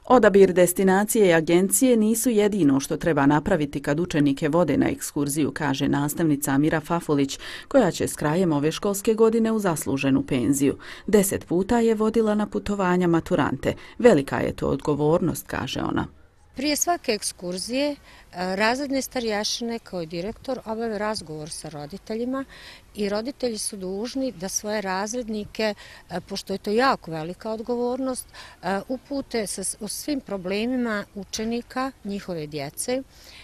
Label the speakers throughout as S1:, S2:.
S1: Odabir destinacije i agencije nisu jedino što treba napraviti kad učenike vode na ekskurziju, kaže nastavnica Amira Fafulić, koja će s krajem ove školske godine u zasluženu penziju. 10 puta je vodila na putovanja maturante. Velika je to odgovornost, kaže ona.
S2: Prije svake ekskurzije razredne starješine kao i direktor obave razgovor sa roditeljima i roditelji su dužni da svoje razrednike, pošto je to jako velika odgovornost, upute o svim problemima učenika, njihove djece,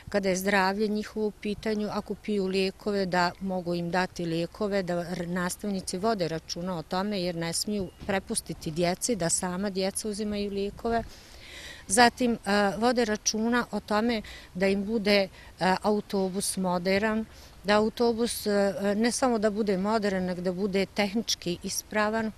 S2: kada je zdravlje njihovo u pitanju, ako piju lijekove da mogu im dati lijekove, da nastavnici vode računa o tome jer ne smiju prepustiti djeci da sama djeca uzimaju lijekove. Zatim vode računa o tome da im bude autobus moderan, da autobus ne samo da bude modern, nego da bude tehnički ispravan.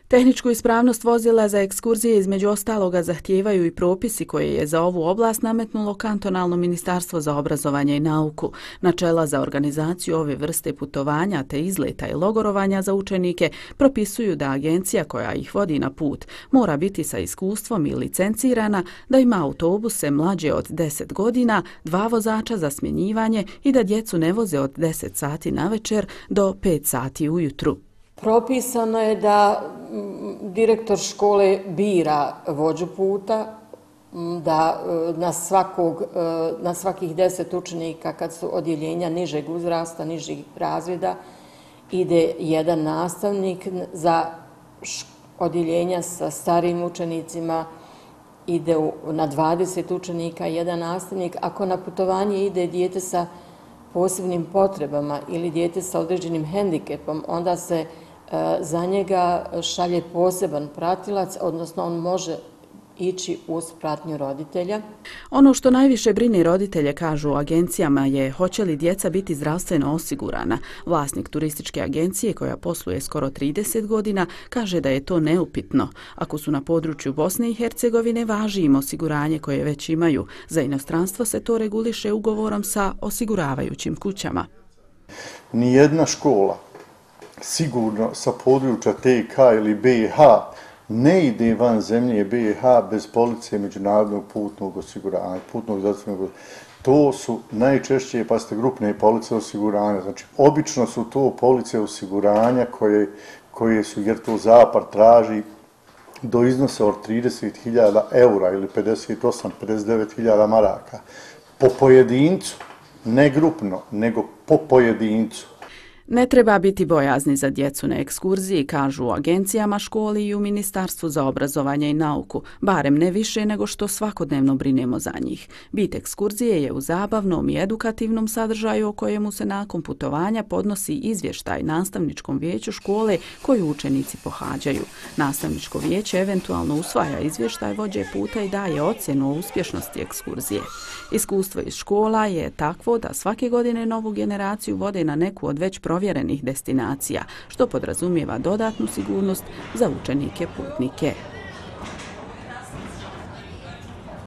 S1: Tehničku ispravnost vozila za ekskurzije između ostaloga zahtijevaju i propisi koje je za ovu oblast nametnulo kantonalno ministarstvo za obrazovanje i nauku. Načela za organizaciju ove vrste putovanja te izleta i logorovanja za učenike propisuju da agencija koja ih vodi na put mora biti sa iskustvom i licencirana, da ima autobuse mlađe od 10 godina, 2 vozača za smjenjivanje i da djecu ne voze od 10 sati navečer do 5 sati ujutru.
S3: Propisano je da direktor škole bira vođu puta, da na svakih 10 učenika kad su odjeljenja nižeg uzrasta, nižih razreda, ide jedan nastavnik, za odjeljenja sa starijim učenicima ide na 20 učenika jedan nastavnik. Ako na putovanje ide dijete sa posebnim potrebama ili dijete sa određenim hendikepom, onda se za njega šalje poseban pratilac, odnosno on može ići uz pratnju roditelja.
S1: Ono što najviše brine roditelje, kažu u agencijama, je hoće li djeca biti zdravstveno osigurana. Vlasnik turističke agencije, koja posluje skoro 30 godina, kaže da je to neupitno. Ako su na području Bosne i Hercegovine, važi im osiguranje koje već imaju. Za inostranstvo se to reguliše ugovorom sa osiguravajućim kućama.
S4: Nijedna škola sigurno sa područja TK ili BiH ne ide van zemlje BiH bez police međunarodnog putnog osiguranja, putnog zdravstvenog osiguranja. To su najčešće, grupne police osiguranja. Znači, obično su to police osiguranja koje su, jer to zapad traži do iznosa od 30.000 eura ili 59.000 maraka. Po pojedincu, ne grupno, nego po pojedincu.
S1: Ne treba biti bojazni za djecu na ekskurziji, kažu u agencijama, školi i u Ministarstvu za obrazovanje i nauku, barem ne više nego što svakodnevno brinemo za njih. Bit ekskurzije je u zabavnom i edukativnom sadržaju o kojemu se nakon putovanja podnosi izvještaj nastavničkom vijeću škole koju učenici pohađaju. Nastavničko vijeće eventualno usvaja izvještaj vođe puta i daje ocjenu o uspješnosti ekskurzije. Iskustvo iz škola je takvo da svake godine novu generaciju vode na neku od već provjerenih destinacija, što podrazumijeva dodatnu sigurnost za učenike putnike.